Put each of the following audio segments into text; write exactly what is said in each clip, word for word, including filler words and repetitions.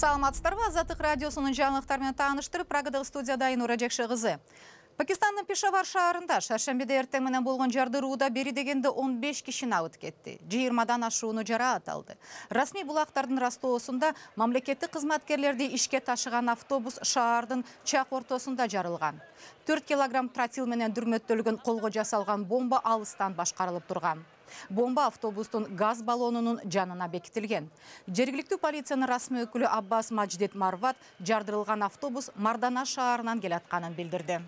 Саламатсыздарбы, Азаттык радиосунун жаңылыктары менен тааныштырып, Прагадагы студияда Айнура Жекше кызы. Пакистандын Пешавар шаарында шаршембиде эртең менен болгон жардырууда бери дегенде он беш киши абыт кетти. жыйырмадан ашууну жараат алды. Расмий булактардын растоосунда мамлекеттик кызматкерлерди ишке ташыган автобус шаардын чак ортосунда жарылган. төрт килограмм тротил менен дүрмөттөлгөн колго жасалган бомба алыстан башкарылып турган. Бомба автобустун газ баллонунун жанына бекитилген. Жергиликтүү полициянын расмий өкүлү Аббас Мадждет Марват жардырылган автобус Мардана шаарынан келатканын билдирди.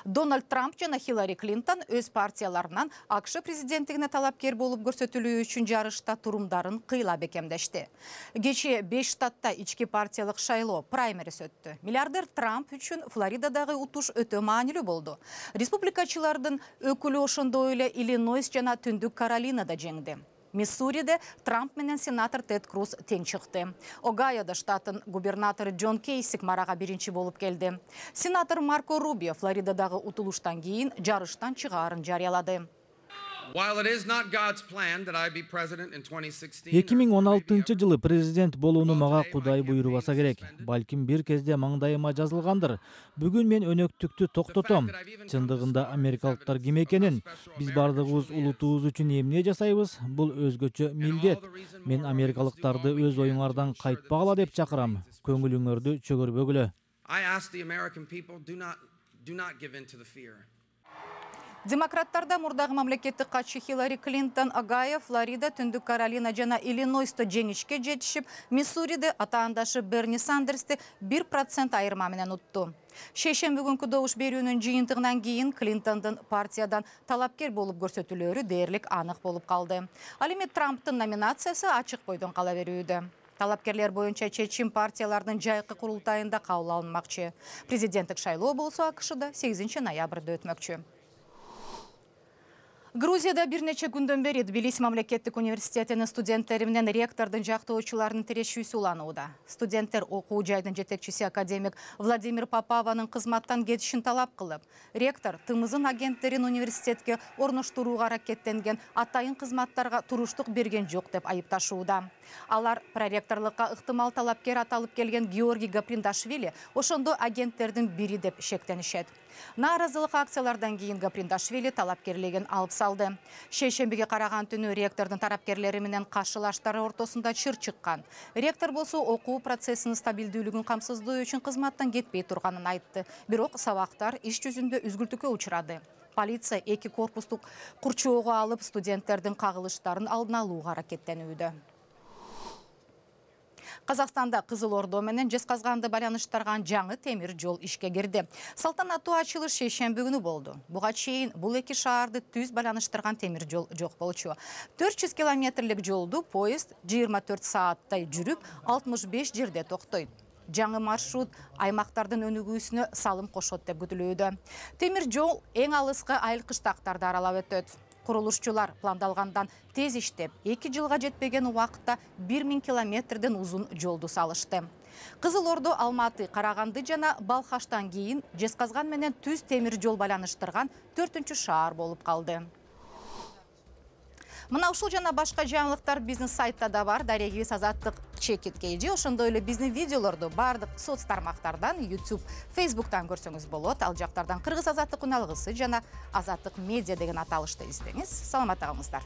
Дональд Трамп жана Хиллари Клинтон өз партияларынан АКШ президенттигине талапкер болуп көрсөтүлүү үчүн жарышта турумдарын кыйла бекемдешти. Кечээ беш штатта ички партиялык шайлоо праймерис өттү. Миллиардер Трамп үчүн Флоридадагы утуш өтө маанилүү болду. Республикачылардын өкүлү ошондой эле Иллинойс жана Түндүк Каролинада жеңди. Миссуриде Трамп менен сенатор Тед Круз тең чыкты. Огайода штаттын губернатору Джон Кейсик марага биринчи болуп келди. Сенатор Марко Рубио Флоридадагы утулуштан кийин жарыштан чыгаарын жарыялады. эки миң он алтынчы жылы президент болууну мага Кудай буйрубаса керек. Балким бир кезде маңдайыма жазылгандыр. Бүгүн мен өнөктүктү токтотом. Чындыгында америкалыктар ким экенин, биз бардыгыбыз улутубуз үчүн эмне жасайбыз? Бул өзгөчө милдет. Мен америкалыктарды өз оюңардан кайтпагыла деп чакырам. Көңүлүңөрдү чөгөрбөгүлө. Демократтарда мурдагы мамлекеттик катчы Хиллари Клинтон Огайо, Флорида, Түндүк Каролина жана Иллинойсто жеңишке жетишип, Миссуриде атаандашы Берни Сандерсти бир процент айырма менен утту. Шейшемби күнкү добуш берүүнүн жыйынтыгынан кийин Клинтондун партиядан талапкер болуп көрсөтүлөрү дээрлик анык болуп калды. Ал эми Трамптын номинациясы ачык бойдон кала берүүдө. Талапкерлер боюнча чечим партиялардын жайкы курултайында кабыл алынмакчы. Президенттик шайлоо болсо АКШда сегизинчи ноябрда өтмөкчү. Грузияда бир нече күндөн бери Тбилиси мамлекеттик университетинин студенттери менен ректордун жактоочуларынын тирешүүсү уланууда. Студенттер окуу жайдын жетекчиси академик Владимир Попаванын кызматтан кетишин талап кылып, ректор тымызын агенттерин университетке орноштурууга аракеттенген атайын кызматтарга туруштук берген жок деп айыпташууда. Алар проректорлукка ыктымал талапкер аталып келген Георгий Гаприндашвили ошондо агенттердин бири деп шектенишет. Нааразылык акциялардан кийин Гаприндашвили талапкерлигин алып салды. Шейшембиге караган түнү ректордун тарапкерлери менен каршылаштары ортосунда чыр чыккан. Ректор болсо окуу процессинин стабилдүүлүгүн камсыздоо үчүн кызматтан кетпей турганын айтты. Бирок сабактар иш жүзүндө үзгүлтүккө учурады. Полиция эки корпустук курчоого алып студенттердин кагылыштарын алдын алууга аракеттенүүдө. Казакстанда Кызыл Ордо менен Жезказганды байланыштырган жаңы темир жол ишке кирди. Салтанаттуу ачылыш шейшемби күнү болду. Буга чейин бул эки шаарды түз байланыштырган темир жол жок болчу. төрт жүз километрлик жолду поезд жыйырма төрт сааттай жүрүп, алтымыш беш жерде токтойт. Жаңы маршрут аймактардын өнүгүүсүнө салым кошот деп күтүлүүдө. Темир жол эң алыскы айыл кыштактарды аралап өтөт. Курулушчулар пландалгандан тез иштеп, эки жылга жетпеген убакытта бир миң километрден узун жолду салышты. Кызыл Ордо Алматы, Караганды жана Балхаштан кийин Жезказган менен түз темир жол байланыштырган төртүнчү шаар болуп калды. Мына ушул жана башка жаңылыктар бизнес сайтта да бар. Дарегибиз Азаттык чекит кейжи. Ошондой эле биздин видеолорду бардык соц тармактардан, YouTube, Facebooktан көрсөңүз болот. Ал жактардан Кыргыз Азаттык уналгысы жана Азаттык медиа деген аталышты издеңиз. Саламат калыңыздар.